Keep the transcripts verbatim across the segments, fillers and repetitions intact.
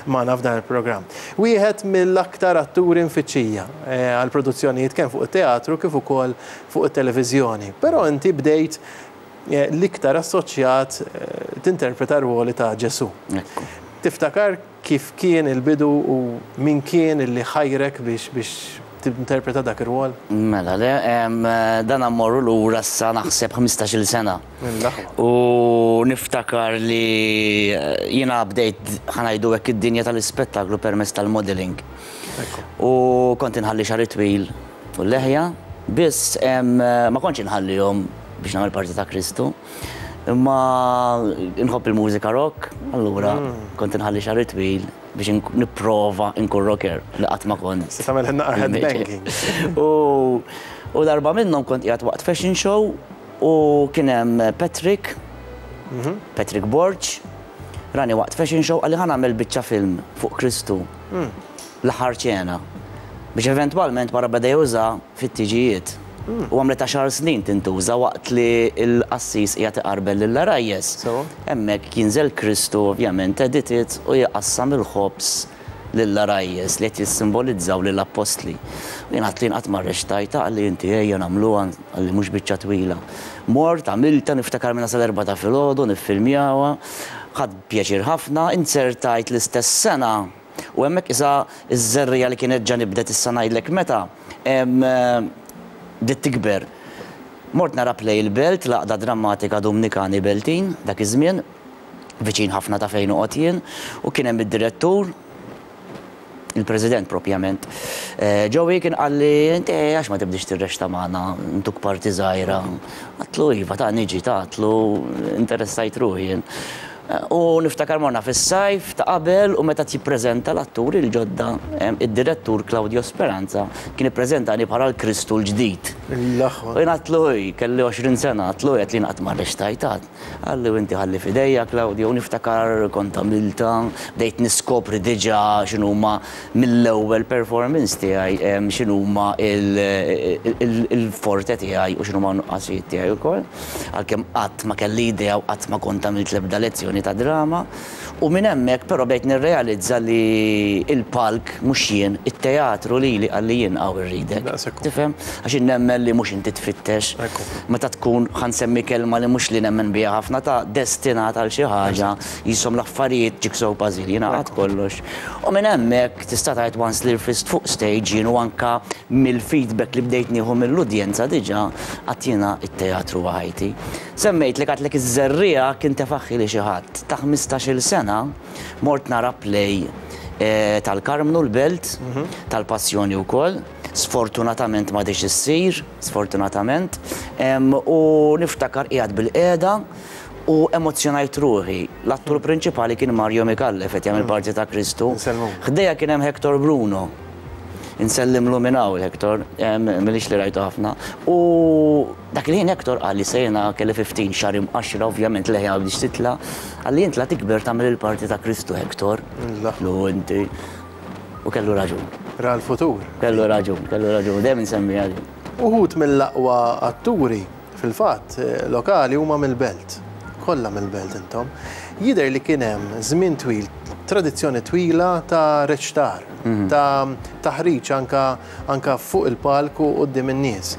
Magħna f'dan il-programm. Wieħed mill-aktar atturi mfittxija eh, għal produzzjonijiet kemm fuq it-teatru kif ukoll fuq it-televiżjoni. Però inti bdejt eh, l-iktar assoċjat eh, tinterpreta ruoli ta' Ġesu. Ekku. Tiftakar kif kien il-bidu u min kien illi ħajrek biex biex tinterpreta dak ir-rwol? Mela, le, em, dan ammorru lura sa naħseb ħmistax-il sena. Mill-aħwa. U niftakar li eh, jiena bdejt, ħa ngħidu hekk, id-dinja tal-ispettaklu permezz tal-modeling. Ekku. U kont inħalli xagħri twil u leħja, biss em, ma kontx inħallihom biex nagħmel parti ta' Kristu. Imma nħobb il-mużika rock, allura kont inħalli xagħri twil biex ink- nipprova nkun rocker li qatt ma kont. Se tagħmel naqra headbanging. U, u darba minnhom kont qiegħed waqt fashion show u kien hemm Patrick, Patrick Borg, rani waqt fashion show, qalli ħa nagħmel biċċa film fuq Kristu. L-Aħħar Ċena. Biex eventwalment wara beda juża fit-tiġijiet. U għamlet għaxar snin tintuża waqt li l-qassis qiegħed iqarbel lill-għarajjes. So? Hemmhekk jinżel Kristu, ovvjament edited, u jqassam il-ħobż lill-għarajjes li qed jissimbolizzaw lill-appostli. U jien għedt li qatt ma rreċtajtha, qalli inti ejja nagħmluha, qalli mhux biċċa twila. Mort, għamilta, niftakar minna sal-erbgħa ta' filgħodu niffilmjawha, ħadt pjaċir ħafna, inzertajt l-istess sena. U hemmhekk isa iż-żerriegħa li kienet ġa nibdet, issa ngħidlek meta, em, eh, bdiet tikber. Mort nara play il-Belt, l-Għaqda Drammatika Dominikani Beltin, dak iż-żmien, viċin ħafna ta' fejn noqgħod jien, u kien hemm id-direttur, il-president propjament. Eh, Joey kien qalli, inti għax ma tibdix tirreċta magħna, ntuk parti żgħira. Għedtlu iva, ta' niġi, ta' għedtlu interessajt ruħi jien. Eh, U niftakar morna fis-sajf ta' qabel u meta jippreżenta l-atturi l-ġodda, em, id-direttur Claudio Speranza kien ippreżentani bħala l-Kristu l-ġdid. L-aħwa. U jien għedtlu, kelli għoxrin sena, għedtlu għedt li qatt ma rreċtajt. Qalli u inti ħalli f'idejja, Claudio, u niftakar kont għamilta, bdejt niskopri diġà x'inhuma mill-ewwel performance tiegħi, em, x'inhuma il-forte tiegħi u x'inhuma nuqqasijiet tiegħi wkoll. Għalkemm qatt ma kelli idea u qatt ma kont għamilt l-ebda lezzjoni ta' drama. U minn hemmhekk però bdejt nirrealizza li il-palk mhux jien, it-teatru li li qalli jien hawn irridek. Daqshekk. Tifhem? Għax nemmen li mhux inti tfittex. Ekku. Meta tkun, ħa nsemmi kelma li mhux li nemmen biha ħafna, ta' destinat għal xi ħaġa, jisom l-affarijiet jigsaw puzzle, jingħaqad kollox. U minn hemmhekk tista' tgħid once li rfist fuq stage jien u anka mill-feedback li bdejt nieħu mill-udjenza diġà għedt jiena it-teatru ħajti. Semmejt li għedtlek iż-żerriegħa kien tefagħhieli xi ħadd. Ta' ħmistax-il sena mort nara play eh, tal-Karmnu l-Belt, tal-Passjoni wkoll. Sfortunatament ma diċ issir, sfortunatament. Em, U niftakar qiegħed bilqiegħda u emozjonajt ruħi. L-attur prinċipali kien Mario Micallef, qed jagħmel parti ta' Kristu. Insellmu. Ħdejja kien hemm Hector Bruno. Insellimlu minn hawn Hector, em, milix li rajtu ħafna. U dak li ħin Hector qalli sejna kelli ħmistax xagħar imqaxra, ovvjament leħja biex titla. Qalli int la tikber tagħmel il-parti ta' Kristu, Hector. La. Lu inti. U kellu raġun. Ra l-futur. Kellu raġun, kellu raġun, dejjem insemmi għadi. Uħud mill-aqwa atturi fil-fatt eh, lokali huma mill-Belt. Kollha mill-Belt intom. Jidher li kien hemm żmien twil, tradizzjoni twila ta' reċtar, ta' taħriġ anka, anka fuq il-palku quddiem in-nies.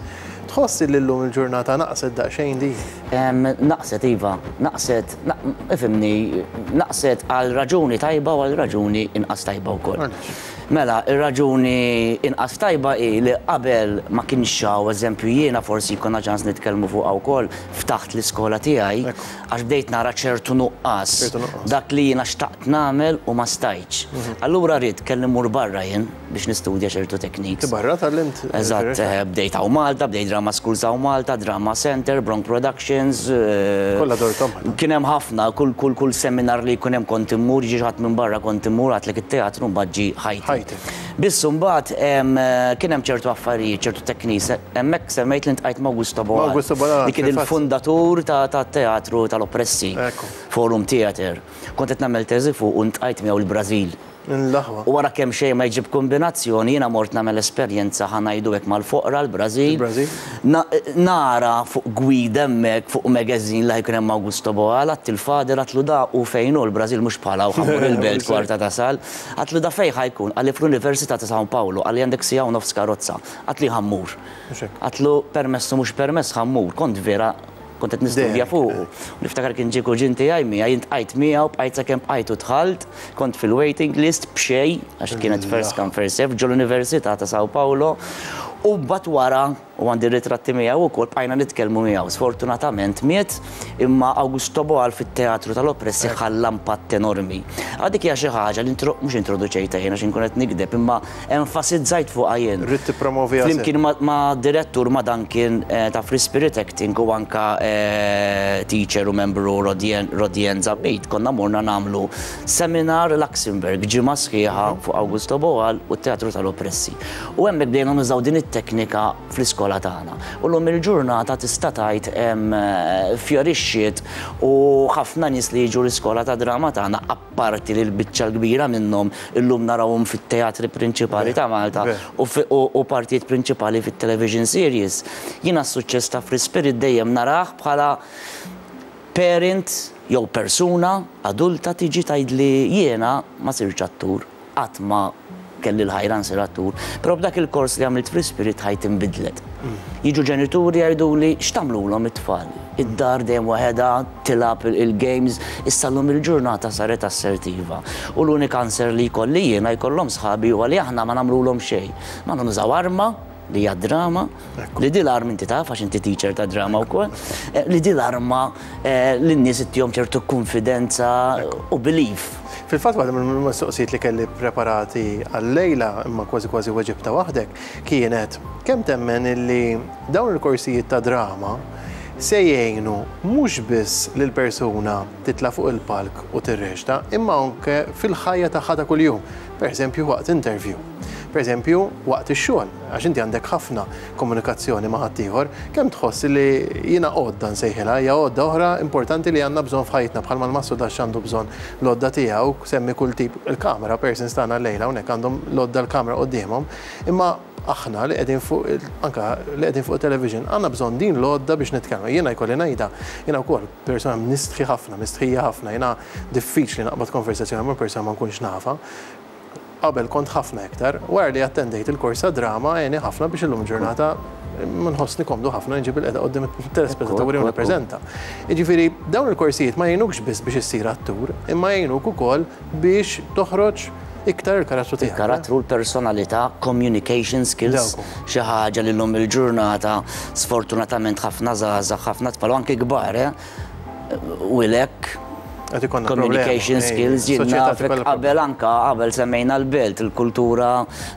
Tħoss li llum il-ġurnata naqset daqsxejn di? Em, Naqset iva, naqset, na- ifhimni, naqset għal raġuni tajba u għal raġuni inqas tajba wkoll. Għaliex? Mela, ir-raġuni inqas tajba hi li qabel ma kienx hawn, eżempju, jiena forsi jkollna ċans nitkellmu fuqha wkoll, ftaħt l-iskola tiegħi Ekku. għax bdejt nara ċertu nuqqas. ċertu nuqqas. Dak li jiena xtaqt nagħmel u ma stajtx. Allura rrid kelli mmur barra jien biex nistudja ċertu techniques. Barra tgħallimt? Eżatt, eh, bdejt hawn Malta, bdejt Drama Schools hawn Malta, Drama Center, Bronk Productions. eh, Kollha dorthom. Kien hemm ħafna, kull kull kull seminar li jkun hemm kont immur, ġi ħadd minn barra kont immur, għedtlek it-teatru mbagħad ġi ħajti. Ħajti. Biss mbagħad em, eh, kien hemm ċertu affarijiet, ċertu techniques, hemmhekk semmejt li ltqajt ma' Augusto Boal. Augusto Boal, Li kien fil-fatt. il-fundatur ta' ta' teatru tal-oppressi. Ekku. Forum Theater. Kont qed nagħmel teżi fuq u ltqajt miegħu l-Brażil. L-aħwa. U wara kemm xejn ma jġib kombinazzjoni, jiena mort nagħmel esperjenza, ħa ngħidu hekk, mal-foqra l-Brażil. Il-Brażil. Na- Nara fuq gwida hemmhekk fuq magazine li jkun hemm Augusto Boal, għedt il-father, għedtlu da u fejn hu l-Brażil, mhux bħala u ħa mmur il-belt kwarta tasal. Għedtlu da fejn ħa jkun? Qalli fl-Università ta' San Paolo, qalli għandek siegħa u nofs karozza. Għedtlu ħa mmur. Mhux hekk. Għedtlu permessu mhux permess ħa mmur, kont vera kont qed nistudja Dejjem, fuq. Niftakar kien ġie kuġin tiegħi miegħi, jien bqajt miegħu, bqajt sakemm bqajt u dħalt, kont fil-waiting list b'xejn, għax kienet first come first serve ġol Università ta' Sao Paulo. U mbagħad wara, u għandi ritratti miegħu ukoll, bqajna nitkellmu miegħu. Sfortunatament miet, imma Augusto Boal fit-teatru tal-oppressi ħalla impatt enormi. Għadik hija xi ħaġa li intro- mhux introduċejta jien għax inkun qed nigdeb, imma enfasizzajt fuqha jien. Ridt tippromovi għasek. Flimkien ma, ma direttur ma Duncan eh, ta' Free Spirit Acting u anka eh, teacher u membru Rodien, Rodien Zabit, konna morna nagħmlu seminar Luxembourg, ġimgħa sħiħa fuq Augusto Boal u t-teatru tal-oppressi. U hemmhekk bdejna nużaw din it-teknika fl-iskola tagħna. U llum il-ġurnata tista' tgħid hemm eh, fjorixxiet u ħafna nies li jiġu l-iskola ta' drama tagħna, apparti li l-biċċa l-kbira minnhom illum narawhom fit-teatri prinċipali ta' Malta Ver. u fi- u u partijiet prinċipali fit-television series. Jiena s-suċċess ta' Free Spirit dejjem narah bħala parent jew persuna adulta tiġi tgħidli jiena ma sirx attur, qatt ma kelli l-ħajra nsir attur, però b'dak il-kors li għamilt Free Spirit ħajti nbidlet. Jiġu ġenituri jgħiduli x'tagħmlulhom it-tfal? Id-dar dejjem waħedha tilgħab il-games, issa llum il-ġurnata saret assertiva. U l-unika answer li jkolli jiena jkollhom sħabi huwa li aħna ma nagħmlulhom xejn. Ma nużaw arma li hija drama, li di l-arma inti taf għax inti teacher ta' drama wkoll, eh, li di l-arma eh, li n-nies ittihom ċertu konfidenza u belief. Fil-fatt waħda mill-mistoqsijiet li kelli preparati għal-lejla, imma kważi kważi weġibta waħdek, kienet kemm temmen illi dawn il-korsijiet ta' drama se jgħinu mhux biss lil persuna titla' fuq il-palk u tirreċta, imma anke fil-ħajja tagħha ta' kuljum. Per eżempju waqt interview. Per eżempju waqt ix-xogħol, għax inti għandek ħafna komunikazzjoni ma' ħaddieħor, kemm tħoss li jiena għodda nsejħilha, hija għodda oħra importanti li għandna bżonn f'ħajtna, bħalma l-massu dax għandu bżonn l-għodda tiegħu, semmi kull tip il-kamera, persons tagħna llejla hawnhekk għandhom l-għodda l-kamera quddiemhom, imma aħna li qegħdin fuq il- anka li qegħdin fuq television għandna bżonn din l-għodda biex nitkellmu. Jiena jkolli ngħidha, jiena wkoll persuna nistħi ħafna, mistħija ħafna, jiena diffiċli naqbad konversazzjoni ma' persuna ma nkunx nafa. Qabel kont ħafna iktar, wara li attendejt il-kors ta' drama għeni ħafna biex illum ġurnata nħossni komdu ħafna nġib il-qeda qoddim it-telespettaturi u nippreżenta. Jiġifieri dawn il-korsijiet ma jgħinukx biss biex issir attur, imma jgħinuk ukoll biex toħroġ iktar il-karattru tiegħek. Il-karattru, l-personalità, communication skills, Dawk. xi ħaġa li llum il-ġurnata sfortunatament ħafna żgħażagħ, ħafna tfal, u anke kbar, eh, u lek Qed ikollna communication problema, skills, ej, jien soċjetà nafek tikollha qabel anka qabel semmejna l-belt, il-kultura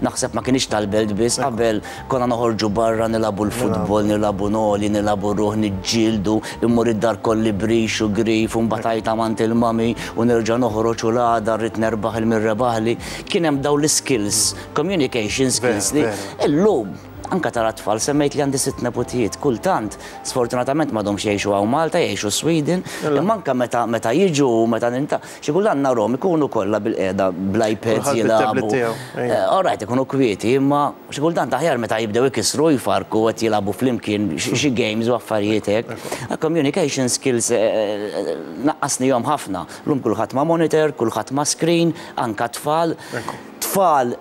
naħseb ma kienx tal-belt biss, qabel konna noħorġu barra nilagħbu l-futbol, nilagħbu noli, nilagħbu ruħ, niġġieldu, immur id-dar kolli brix u grif, u mbagħad għand il-mami u nerġa' noħroġ u l-għada rrid nerbaħ il-mirrebaħli. Kien hemm dawn l-skills, communication skills li Vera, illum anka tara tfal, semmejt li għandi sitt nepotijiet, kultant, sfortunatament m'għadhomx jgħixu hawn Malta, jgħixu Sweden, imma anka meta meta jiġu, meta ninta, xi kultant narhom ikunu kollha bil-qiegħda bl-iPads Kulħadd bit-tablet jilagħbu. tiegħu, ejja. Eh, All right, ikunu kwieti, imma xi kultant aħjar meta jibdew ikisru jfarku qed jilagħbu flimkien xi xi games u affarijiet hekk. Communication skills eh, eh, naqqasnihom ħafna. Lum kulħadd ma' monitor, kulħadd ma' screen, anka tfal. Tfal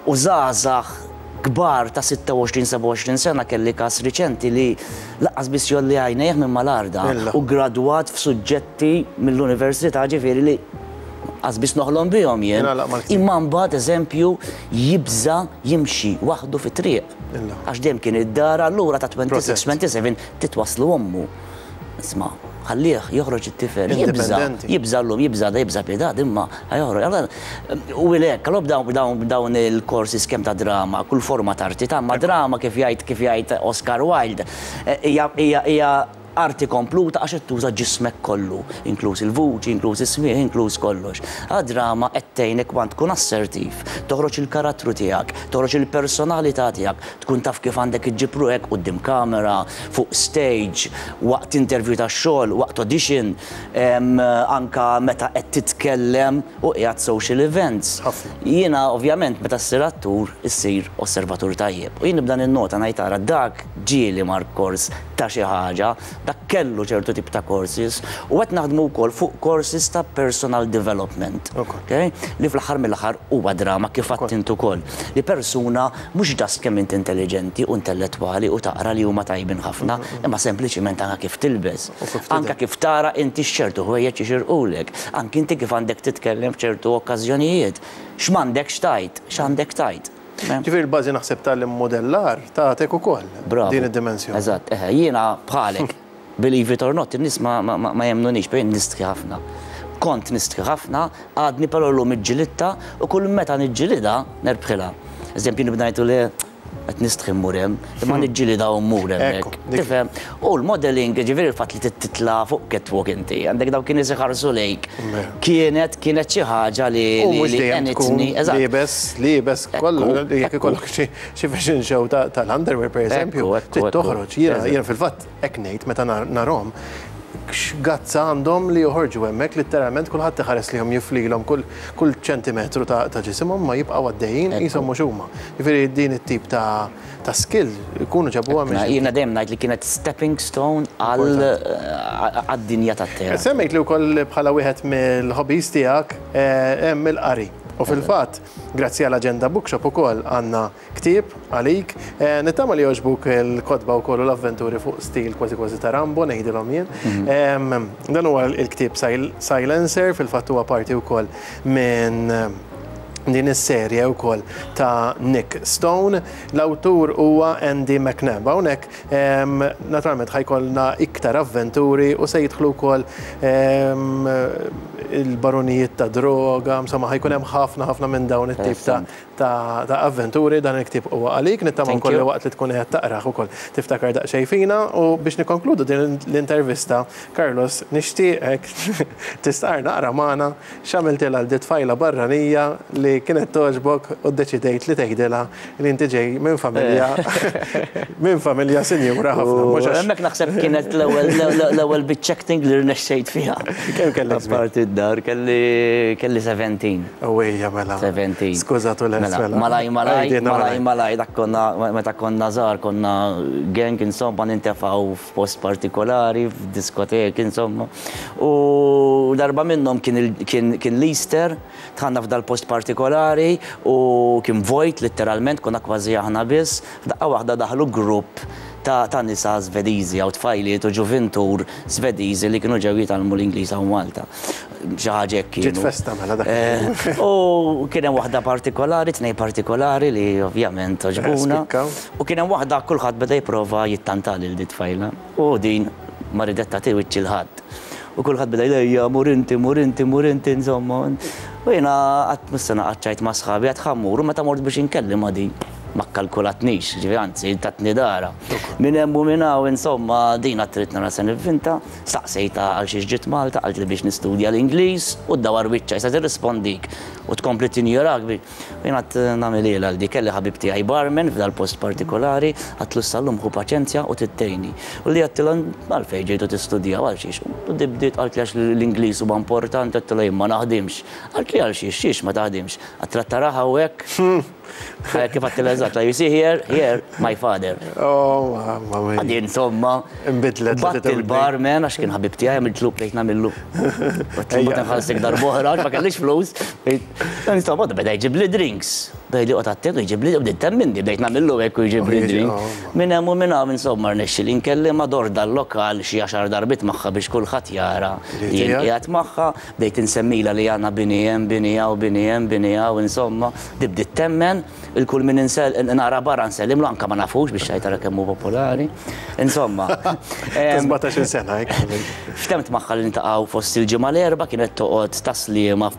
u żgħażagħ kbar ta' sitta u għoxrin sebgħa u għoxrin sena, kelli kas riċenti li lanqas biss jgħolli għajnejh minn mal-arda Illa. u gradwat f'suġġetti mill-università, ġifieri li lanqas biss noħlom bihom jien. Jingħalaq mal-ktieb. Imma mbagħad eżempju jibża jimxi waħdu fit-triq. Illa. Għax dejjem kien id-dar, allura ta' twenty-six, Protect. twenty-seven titwaslu ommu. Isma', ħallih joħroġ it-tifel, jibża, Indipendenti. jibża llum, jibża da, jibża pitgħada, imma ħa joħroġ. Allora, u lek, allora dawn dawn dawn il-korsi skem ta' drama, kull forma ta' arti ta' ma drama kif jgħid kif jgħid Oscar Wilde, eh, hija hija hija Arti kompluta għax qed tuża ġismek kollu, inkluż il-vuċi, inkluż is-smieħ, inkluż kollox. Għad-drama qed tgħinek want tkun assertiv, toħroġ il-karattru tiegħek, toħroġ il-personalità tiegħek, tkun taf kif għandek iġġib ruħek quddiem kamera, fuq stage, waqt interview ta' xogħol, waqt audition, em, anka meta qed titkellem u qiegħed social events. Ħafna. Jiena ovvjament meta ssir attur issir osservatur tajjeb. U jien nibda ninnota, ngħid, ara dak ġieli mar kors ta' xi ħaġa, dak kellu ċertu tip ta' courses u qed naħdmu wkoll fuq courses ta' personal development. Ok. Okay? Li fl-aħħar mill-aħħar huwa drama, kif għedt int ukoll. Li persuna mhux just kemm int intelligenti u intellettwali u taqra, li huma tajbin ħafna, imma sempliċiment anke kif tilbes. U kif tidher. Anke kif tara inti x'ċertu ħwejjeġ jixirqulek, anke inti kif għandek titkellem f'ċertu okkażjonijiet. X'm'għandekx tgħid, x'għandek tgħid. Ġifieri l-bażi naħseb tal-modellar tagħtek ukoll Bravo. din id-dimensjoni. Eżatt, eħe, jiena bħalek, believe it or not, in-nies ma, ma, ma, ma jemnunix, bejn nistħi ħafna. Kont nistħi ħafna, għadni però llum iġġilidtha u kull meta niġġilidha nerbħilha. Eżempju, nibda ngħidu li qed nistħi mmur hemm, imma niġġilidha u mmur hemmhekk. Ekku, dik- Tifhem? U l-modeling, ġifieri il-fatt li titla fuq catwalk inti, għandek dawk kien iħarsu lejk. Vera. Kienet kienet xi ħaġa li U li mhux li dejjem tkun għenitni. Eżatt. liebes, liebes kollu, Ekku, jekk ekku. ikollok xi xi fashion show ta- tal-underwear per eżempju, Ekku, ekku, trid ekku. toħroġ. Jiena Eżatt. jiena fil-fatt hekk ngħid meta nar- narhom x'gazza għandhom li joħorġu hemmhekk, letteralment kulħadd iħares lihom, jiflilhom kull kull ċentimetru ta' ta' ġisimhom, ma jibqgħu għaddejjin Ekku. qishom mhux huma. Jiġifieri din it-tip ta' ta' skill ikunu ġabuha Na, minn jiena dejjem ngħid li kienet stepping stone għal għad-dinja tat-teatru. Semmejt li wkoll bħala wieħed mill-hobbies tiegħek eh, hemm il-qari. U fil-fatt, grazzi għal Agenda Bookshop ukoll għandna ktieb għalik. Eh, Nittama li jogħġbuk il-kotba wkoll u l-avventuri fuq stil kważi kważi ta' Rambo, ngħidilhom jien. Em, Dan huwa il-ktieb Sil- Silencer, fil-fatt huwa parti wkoll minn din is-serje wkoll ta' Nick Stone. L-awtur huwa Andy McNab. Hawnhekk em, naturalment ħa jkollna iktar avventuri u se jidħlu wkoll em, il-baronijiet ta' droga, insomma, ħa jkun hemm ħafna ħafna minn dawn it-tip ta' ta' ta' avventuri. Dan il-ktieb huwa għalik, nittama Thank wkoll you. waqt li tkun qed taqrah ukoll tiftakar daqsxejn fina. U biex nikkonkludu din l-intervista, Carlos, nixtieqek tistqar naqra magħna x'għamiltilha lil tfajla barranija li kienet togħġbok u ddeċidejt li tgħidilha li inti ġej minn familja minn familja sinjura ħafna. Mhux għax- Hemmhekk naħseb kienet l-ewwel l-ewwel biċċa acting li rnexxejt fiha. Kemm kellek żmien? Apparti d-dar kelli kelli sbatax. Ewwejja, mela. seventeen. Skużatu l Mela, malaj, malaj, Għidilna. Malaj, malaj, dak konna, meta konna żgħar, konna gang, insomma, nintefgħu f'post partikolari, f'diskotek, insomma. U darba minnhom kien, il- kien, kien l-Easter, dħalna f'dal post partikolari u kien vojt, letteralment, konna kważi aħna biss. F'daqqa waħda daħlu grupp ta', ta' nisa Svediżi, għaw tfajliet u ġuvintur Svediżi li kienu ġew jitgħallmu l-Ingliż hawn Malta. Xi ħaġa hekk Ġiet kienu. festa mela dak. Eh, U kien hemm waħda partikolari, tnej partikolari li ovvjament għoġbuna. Spikkaw. U kien hemm waħda, kulħadd beda jipprova jittanta lil di tfajla. U din ma ridet tagħti wiċċ lil ħadd. U kulħadd beda jlejja, mur inti, mur inti, mur inti, insomma. U jiena għedt missena qaċċajt ma' sħabi, għedt ħa mmur, u meta mort biex inkellem ma' din ma kkalkulatnix, ġifieri anzi tatni dahra. Minn hemm u minn hawn, insomma, din għedt nara se nivvinta, staqsejta għal xiex ġiet Malta, qaltli biex nistudja l-Ingliż u ddawar wiċċha, issa tirrispondik u tkompli tinjorak. Jien għedt nagħmilha għal di, kelli ħabib tiegħi barman f'dal post partikolari, għedtlu sal-lum ħu paċenzja u tittejni. U li għedtilha, għalfejn ġejtu tistudjaw, għal xiex? U di bdiet qaltli għax l-Ingliż huwa importanti, għedtilha jien ma naħdimx. Qaltli għal xiex, xiex ma taħdimx? Għedtilha taraha u hekk. Kif għedtilha eżatt, you see here, here, my father. Oh, mamma mia. Għadi, insomma, Imbidlet Bat l-attitudni. il-barman, għax kien ħabib tiegħi, għamiltlu plejt nagħmillu. Għedtlu ma nħallsek darb'oħra, għax ma kellix flus. Insomma, beda jġib li drinks. Beda li qgħod attent u jġib li, bdiet temminni, bdejt nagħmillu hekk u jġib li Oh, jiġi- drink. oh, Minn hemm u minn hawn, insomma, rnexxi li nkellem mador dal-lokal xi għaxar darbit magħha biex kulħadd jara Li li jien tiegħek? qiegħed magħha, bdejt insemmila li għandna bini hemm, bini hawn, bini hemm, bini hawn, insomma, di bdiet temmen, il-kull min insel nara barra nsellimlu, anka ma nafux biex xajtara kemm hu popolari. Insomma. em, sbatax-il sena, hekk. Ftemt magħha li niltaqgħu fost il-ġimgħa l-Erbgħa, kienet toqgħod Tas-Sliema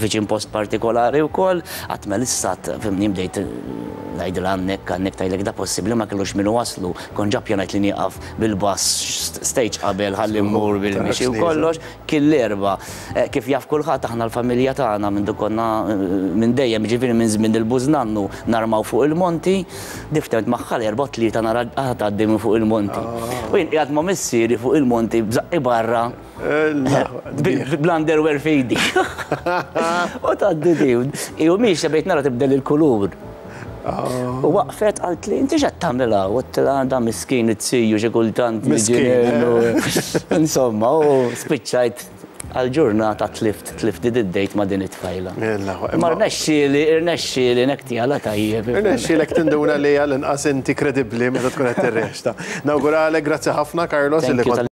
viċin post partikolari wkoll, għedt mela issa Fhimtni, bdejt ngħidilha għannek, għannek tajlek da possibbli ma kellux minnu waslu. Kont ġa ppjanajt li nieqaf bil-bus stage qabel ħalli mmur bil-mixi u kollox. Kien l-Erbgħa. Eh, Kif jaf kulħadd, aħna l-familja tagħna minn konna eh, minn dejjem, ġifieri minn żmien il-bużnannu, narmaw fuq il-monti, diftemt magħha l-Erbgħa Tlieta nara tgħaddi minn fuq il-monti. U jien qiegħed ma' missieri fuq il-monti b'żaqqi barra bl-underwear f'idi. U tgħaddi di. Iu miex bejt nara tibdel il-kulur. U waqfet, għalt li, "Inti x'qed tagħmilha?" U għedtilha, "Da miskin it-siju xi kultant." Miskin. Insomma, u spiċċajt għal-ġurnata tlift, tlift id-date ma' din it-tfajla. Ma rnexxieli, rnexxieli nektjala tajjeb. Rnexxielek tinduna li għal-inqas inti kredibbli meta tkun qed tirreċta. Nawguralek, grazzi ħafna, Carlos. Thank you.